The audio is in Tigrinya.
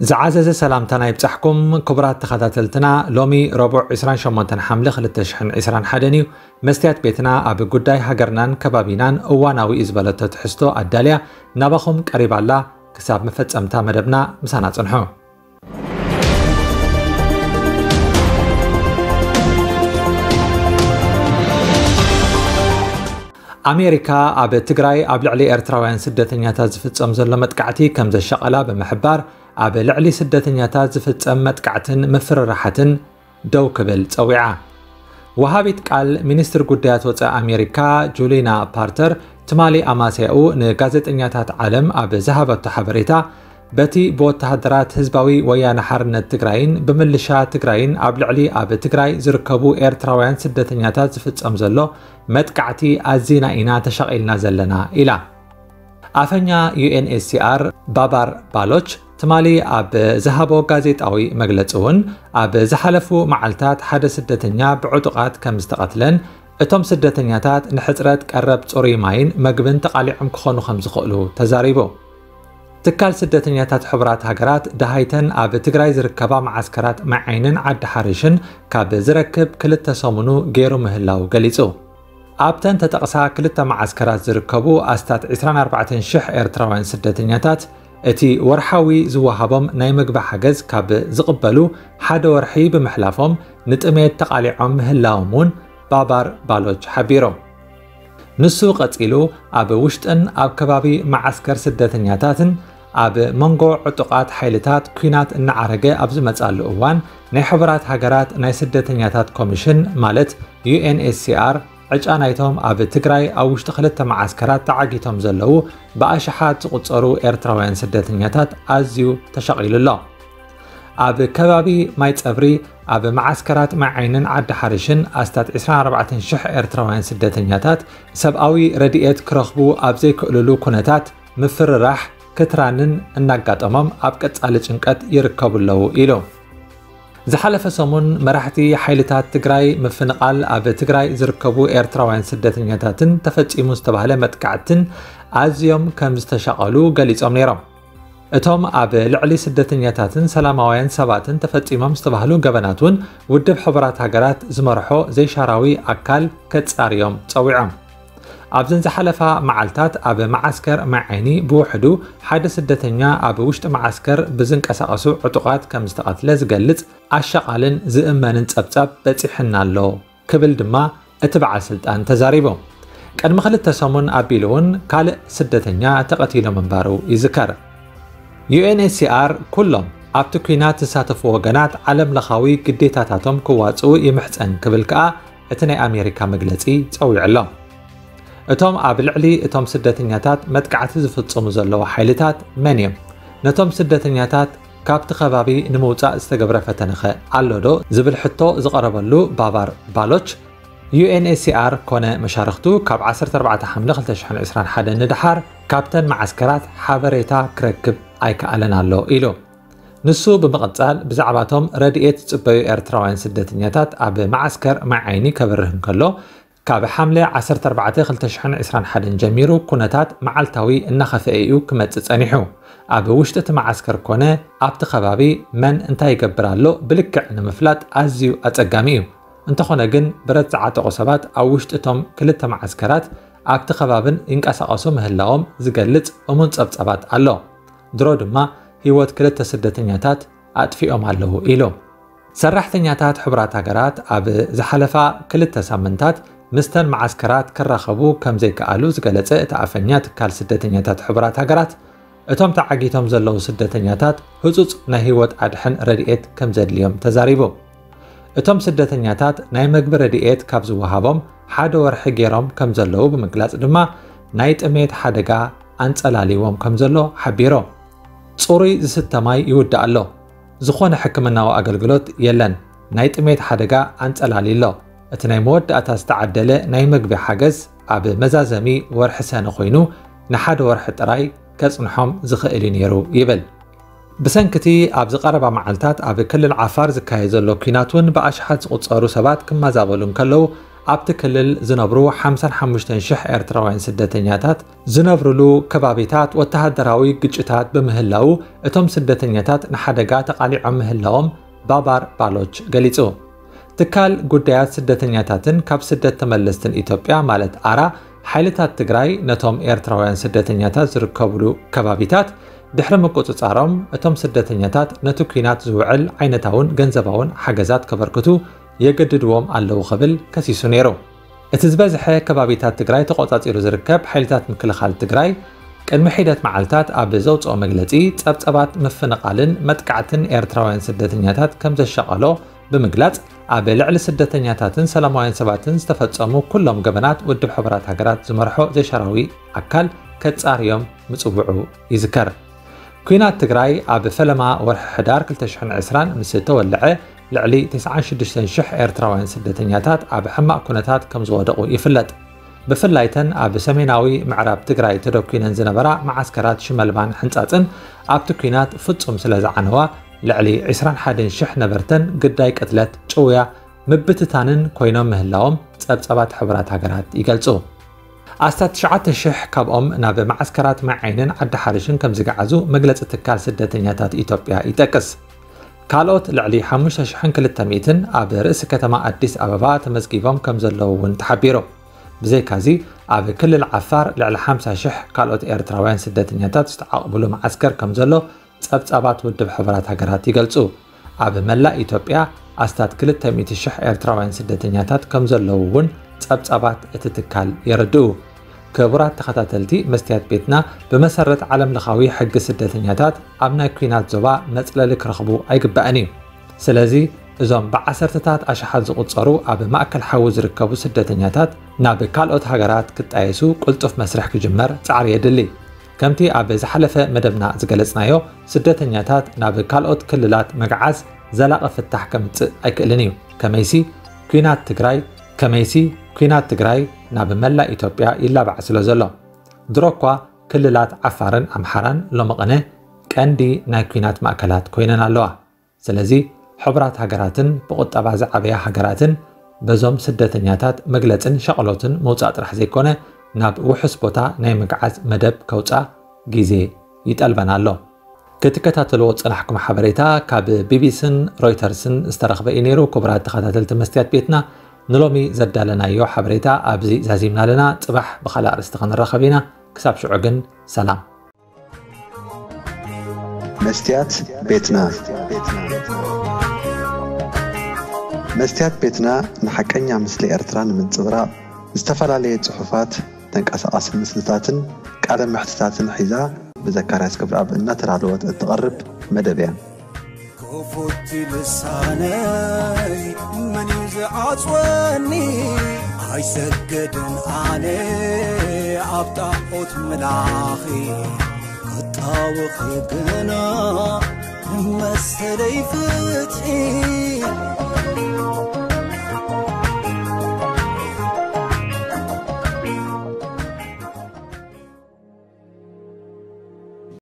ዝዓዘዘ ሰላምታና ይብጻሕኩም ክቡራት ተኸታተልትና። ሎሚ ረቡዕ ዕስራን ሸሞንተን ሓምለ ክልተ ሽሕን ዕስራን ሓደን እዩ። መስትያት ቤትና ኣብ ጉዳይ ሃገርናን ከባቢናን እዋናዊ እዩ ዝበለቶ ትሕዝቶ ኣዳልያ ናባኹም ቀሪባ ኣላ። ክሳብ መፈጸምታ መደብና ምሳና ጽንሑ። ኣሜሪካ ኣብ ትግራይ ኣብ ልዕሊ ኤርትራውያን ስደተኛታት ዝፍጸም ዘሎ መጥቃዕቲ ከም ዘሻቐላ ብምሕባር፣ ኣብ ልዕሊ ስደተኛታት ዝፍጸም መጥቃዕትን ምፍርራሓትን ደው ክብል ጸዊዓ። ወሃቢት ቃል ሚኒስትር ጉዳያት ወጻኢ ኣሜሪካ ጁሊና ፓርተር ትማሊ ኣማስያኡ ንጋዜጠኛታት ዓለም ኣብ ዝሃበቶ ሓበሬታ፣ በቲ ብወተሃደራት ህዝባዊ ወያነ ሓርነት ትግራይን ብምልሻ ትግራይን ኣብ ልዕሊ ኣብ ትግራይ ዝርከቡ ኤርትራውያን ስደተኛታት ዝፍጸም ዘሎ መጥቃዕቲ ኣዚና ኢና ተሻቒልና ዘለና ኢላ። ኣፈኛ ዩ ኤን ኤች ሲ ኣር ባባር ባሎች ትማሊ ኣብ ዝሃቦ ጋዜጣዊ መግለጺ እውን፣ ኣብ ዝሓለፉ መዓልታት ሓደ ስደተኛ ብዕጡቓት ከም ዝተቐትለን፣ እቶም ስደተኛታት ንሕጽረት ቀረብ ጽሩይ ማይን መግብን ተቓሊዖም ክኾኑ ከም ዝኽእሉ ተዛሪቡ። ትካል ስደተኛታት ሕቡራት ሃገራት ደሃይተን ኣብ ትግራይ ዝርከባ መዓስከራት ማይ ዓይንን ዓዲ ሓሪሽን ካብ ዝረክብ ክልተ ሰሙኑ ገይሩ ምህላው ገሊጹ። ኣብተን ተጠቕሳ ክልተ መዓስከራት ዝርከቡ ኣስታት ዕስራን ኣርባዕተን ሽሕ ኤርትራውያን ስደተኛታት፣ እቲ ወርሓዊ ዝወሃቦም ናይ ምግቢ ሓገዝ ካብ ዝቕበሉ ሓደ ወርሒ ብምሕላፎም፣ ንጥሜት ተቓሊዖም ምህላዎም እውን ባባር ባሎች ሓቢሩ። ንሱ ቀጺሉ፣ ኣብ ውሽጥን ኣብ ከባቢ መዓስከር ስደተኛታትን ኣብ መንጎ ዕጡቓት ሓይልታት ኲናት እናዓረገ ኣብ ዝመጻሉ እዋን፣ ናይ ሕቡራት ሃገራት ናይ ስደተኛታት ኮሚሽን፣ ማለት ዩ ኤን ኤች ሲ ኣር፣ ዕጫ ናይቶም ኣብ ትግራይ ኣብ ውሽጢ ክልተ መዓስከራት ተዓጊቶም ዘለዉ ብኣሽሓት ዝቑጸሩ ኤርትራውያን ስደተኛታት ኣዝዩ ተሻቒሉ ኣሎ። ኣብ ከባቢ ማይ ጸብሪ፣ ኣብ መዓስከራት ማይ ዓይንን ዓዲ ሓሪሽን ኣስታት ዕስራን ኣርባዕተን ሽሕ ኤርትራውያን ስደተኛታት ሰብኣዊ ረድኤት ክረኽቡ ኣብ ዘይክእልሉ ኩነታት ምፍርራሕ፣ ክትራንን እናጋጠሞም ኣብ ቀጻሊ ጭንቀት ይርከቡ ኣለዉ ኢሉ። ዝሓለፈ ሰሙን መራሕቲ ሓይልታት ትግራይ ምፍንቓል ኣብ ትግራይ ዝርከቡ ኤርትራውያን ስደተኛታትን ተፈጺሙ ዝተባህለ መጥቃዕትን ኣዝዮም ከም ዝተሻቐሉ ገሊጾም ነይሮም። እቶም ኣብ ልዕሊ ስደተኛታትን ሰላማውያን ሰባትን ተፈጺሞም ዝተባህሉ ገበናት እውን ውድብ ሕቡራት ሃገራት ዝመርሖ ዘይሻራዊ ኣካል ከጻርዮም ጸዊዖም። ኣብዘን ዝሓለፋ መዓልታት ኣብ መዓስከር ማይ ዓይኒ ብውሕዱ ሓደ ስደተኛ ኣብ ውሽጢ መዓስከር ብዝንቀሳቐሱ ዕጡቓት ከም ዝተቐትለ ዝገልጽ ኣሻቓልን ዝእመንን ጸብጻብ በጺሕና ኣሎ ክብል ድማ እቲ በዓል ስልጣን ተዛሪቡ። ቅድሚ ክልተ ሰሙን ኣቢሉ እውን ካልእ ስደተኛ ተቐቲሉ ምንባሩ ይዝከር። ዩ ኤን ኤች ሲ ኣር ኩሎም ኣብቲ ኲናት ዝሳተፉ ወገናት ዓለም ለኻዊ ግዴታታቶም ክዋጽኡ ይምሕጸን ክብል ከኣ እቲ ናይ ኣሜሪካ መግለጺ ጸዊዑ ኣሎ። እቶም ኣብ ልዕሊ እቶም ስደተኛታት መጥቃዕቲ ዝፍጽሙ ዘለዉ ሓይልታት መን እዮም? ነቶም ስደተኛታት ካብቲ ከባቢ ንምውጻእ ዝተገብረ ፈተነኸ ኣሎ ዶ? ዝብል ሕቶ ዝቐረበሉ ባባር ባሎች፣ ዩ ኤን ኤች ሲ ኣር ኮነ መሻርኽቱ ካብ ዓሰርተ ኣርባዕተ ሓምለ ክልተ ሽሕን ዕስራን ሓደን ንደሓር ካብተን መዓስከራት ሓበሬታ ክረክብ ኣይከኣለን ኣሎ ኢሉ። ንሱ ብምቕጻል ብዛዕባቶም ረድኤት ዝጽበዩ ኤርትራውያን ስደተኛታት ኣብ መዓስከር ማይ ዓይኒ ከብርህ እንከሎ፣ ካብ ሓምለ ዓሰርተ ኣርባዕተ ክልተ ሽሕን ዕስራን ሓደን ጀሚሩ ኩነታት መዓልታዊ እናኸፍአ እዩ ክመጽእ ጸኒሑ። ኣብ ውሽጢ እቲ መዓስከር ኮነ ኣብቲ ከባቢ መን እንታይ ይገብር ኣሎ ብልክዕ ንምፍላጥ ኣዝዩ ኣጸጋሚ እዩ። እንተኾነ ግን ብረት ዝዓጠቑ ሰባት ኣብ ውሽጢ እቶም ክልተ መዓስከራት ኣብቲ ከባብን ይንቀሳቐሱ ምህላዎም ዝገልጽ እሙን ጸብጻባት ኣሎ። ድሮ ድማ ህይወት ክልተ ስደተኛታት ኣጥፊኦም ኣለዉ ኢሉ። ሰራሕተኛታት ሕቡራት ሃገራት ኣብ ዝሓለፋ ክልተ ሳምንታት ምስተን መዓስከራት ክራኸቡ ከም ዘይከኣሉ ዝገለጸ እቲ ኣፈኛ ትካል ስደተኛታት ሕቡራት ሃገራት፣ እቶም ተዓጊቶም ዘለዉ ስደተኛታት ህጹጽ ናይ ህይወት ኣድሕን ረድኤት ከም ዘድልዮም ተዛሪቡ። እቶም ስደተኛታት ናይ መግቢ ረድኤት ካብ ዝወሃቦም ሓደ ወርሒ ገይሮም ከም ዘለዉ ብምግላጽ ድማ፣ ናይ ጥሜት ሓደጋ ኣንጸላልይዎም ከም ዘሎ ሓቢሩ። ጽሩይ ዝስተ ማይ ይውዳእ ኣሎ። ዝኾነ ሕክምናዊ ኣገልግሎት የለን። ናይ ጥሜት ሓደጋ ኣንጸላልዩ ኣሎ። እቲ ናይ መወዳእታ ዝተዓደለ ናይ መግቢ ሓገዝ ኣብ መዛዘሚ ወርሒ ሰነ ኮይኑ፣ ንሓደ ወርሒ ጥራይ ከጽንሖም ዝኽእል እዩ ነይሩ ይብል። ብሰንክቲ ኣብዚ ቀረባ መዓልታት ኣብ ክልል ዓፋር ዝካየድ ዘሎ ኲናት እውን ብኣሽሓት ዝቑጸሩ ሰባት ክመዛበሉ እንከለዉ፣ ኣብቲ ክልል ዝነብሩ ሓምሳን ሓሙሽተን ሽሕ ኤርትራውያን ስደተኛታት ዝነብሩሉ ከባቢታት ወተሃደራዊ ግጭታት ብምህላዉ፣ እቶም ስደተኛታት ንሓደጋ ተቓሊዖም ምህላዎም ባባር ባሎች ገሊጹ። ትካል ጉዳያት ስደተኛታትን ካብ ስደት ተመለስትን ኢትዮጵያ ማለት ኣራ፣ ሓይልታት ትግራይ ነቶም ኤርትራውያን ስደተኛታት ዝርከብሉ ከባቢታት ድሕሪ ምቁጽጻሮም፣ እቶም ስደተኛታት ነቲ ኲናት ዝውዕል ዓይነታውን ገንዘባውን ሓገዛት ከበርክቱ የገድድዎም ኣለዉ ክብል ከሲሱ ነይሩ። እቲ ዝበዝሐ ከባቢታት ትግራይ ተቖጻጺሩ ዝርከብ ሓይልታት ምክልኻል ትግራይ ቅድሚ ሒደት መዓልታት ኣብ ዘውጽኦ መግለጺ፣ ጸብጸባት ምፍንቓልን መጥቃዕትን ኤርትራውያን ስደተኛታት ከም ዘሻቐሎ ብምግላጽ፣ ኣብ ልዕሊ ስደተኛታትን ሰላማውያን ሰባትን ዝተፈጸሙ ኩሎም ገበናት ውድብ ሕቡራት ሃገራት ዝመርሖ ዘይሻራዊ ኣካል ከጻርዮም ምጽውዑ ይዝከር። ኲናት ትግራይ ኣብ ፈለማ ወርሒ ሕዳር ክልተ ሽሕን ዕስራን ምስ ተወልዐ፣ ልዕሊ ተስዓን ሽዱሽተን ሽሕ ኤርትራውያን ስደተኛታት ኣብ ሕማቕ ኩነታት ከም ዝወደቑ ይፍለጥ። ብፍላይተን ኣብ ሰሜናዊ ምዕራብ ትግራይ ተደኲነን ዝነበራ መዓስከራት ሽመልባን ሕንጻጽን ኣብቲ ኲናት ፍጹም ስለ ዝዓነዋ፣ ልዕሊ ዕስራን ሓደን ሽሕ ነበርተን ግዳይ ቅትለት፣ ጭውያ፣ ምብትታንን ኮይኖም ምህላዎም ጸብጻባት ሕቡራት ሃገራት ይገልጹ። ኣስታት ትሽዓተ ሽሕ ካብኦም ናብ መዓስከራት ማይ ዓይንን ዓዲ ሓርሽን ከም ዝገዓዙ መግለጺ ትካል ስደተኛታት ኢትዮጵያ ይጠቅስ። ካልኦት ልዕሊ ሓሙሽተ ሽሕን ክልተ ሚእትን ኣብ ርእሲ ከተማ ኣዲስ ኣበባ ተመዝጊቦም ከም ዘለዉ እውን ተሓቢሩ። ብዘይካዚ፣ ኣብ ክልል ዓፋር ልዕሊ ሓምሳ ሽሕ ካልኦት ኤርትራውያን ስደተኛታት ዝተዓቕብሉ መዓስከር ከም ዘሎ ጸብጻባት ውድብ ሕቡራት ሃገራት ይገልጹ። ኣብ መላእ ኢትዮጵያ ኣስታት ክልተ ሚእቲ ሽሕ ኤርትራውያን ስደተኛታት ከም ዘለዉ እውን ጸብጻባት እቲ ትካል የረድኡ። ክቡራት ተኸታተልቲ መስትያት ቤትና፣ ብመሰረት ዓለም ለኻዊ ሕጊ ስደተኛታት ኣብ ናይ ኲናት ዞባ መጽለሊ ክረኽቡ ኣይግባእን እዩ። ስለዚ እዞም ብዓሰርተታት ኣሽሓት ዝቑጸሩ ኣብ ማእከል ሓዊ ዝርከቡ ስደተኛታት ናብ ካልኦት ሃገራት ክጣየሱ ቅልጡፍ መስርሕ ክጅመር ጻዕሪ የድሊ። ከምቲ ኣብ ዝሓለፈ መደብና ዝገለጽናዮ፣ ስደተኛታት ናብ ካልኦት ክልላት ምግዓዝ ዘላቒ ፍታሕ ከምጽእ ኣይክእልን እዩ። ከመይሲ ኲናት ትግራይ ከመይሲ ኲናት ትግራይ ናብ መላእ ኢትዮጵያ ይላባዕ ስለ ዘሎ። ድሮ እኳ ክልላት ዓፋርን ኣምሓራን ሎሚ ቅነ ቀንዲ ናይ ኲናት ማእከላት ኮይነን ኣለዋ። ስለዚ ሕቡራት ሃገራትን ብቑጠባ ዝዓበያ ሃገራትን በዞም ስደተኛታት መግለጽን ሻቕሎትን ምውጻእ ጥራሕ ዘይኮነ፣ ናብ ውሑስ ቦታ ናይ ምግዓዝ መደብ ከውጻ ግዜ ይጠልበን ኣሎ። ክትከታተልዎ ዝጸናሕኩም ሓበሬታ ካብ ቢቢሲን ሮይተርስን ዝተረኽበ እዩ ነይሩ። ክቡራት ተኸታተልቲ መስትያት ቤትና፣ ንሎሚ ዘዳለናዮ ሓበሬታ ኣብዚ ዛዚምና ኣለና። ጽባሕ ብኻልእ ኣርእስቲ ክንራኸብ ኢና። ክሳብ ሽዑ ግን ሰላም። መስትያት ቤትና። መስትያት ቤትና ንሓቀኛ ምስሊ ኤርትራ ንምንጽብራቕ፣ ዝተፈላለየ ጽሑፋት፣ ተንቀሳቓሲ ምስልታትን ቃለ መሕትታትን ሒዛ ብዘካርያስ ገብረኣብ እናተዳለወት እትቐርብ መደብ እያ። ክፉት ልሳነይ መን እዩ ዝዓጽወኒ? ኣይሰግድን ኣነ ኣብ ጣዖት ምላኺ፣ ክጣወኺ ግና መሰለይ ፍትሒ።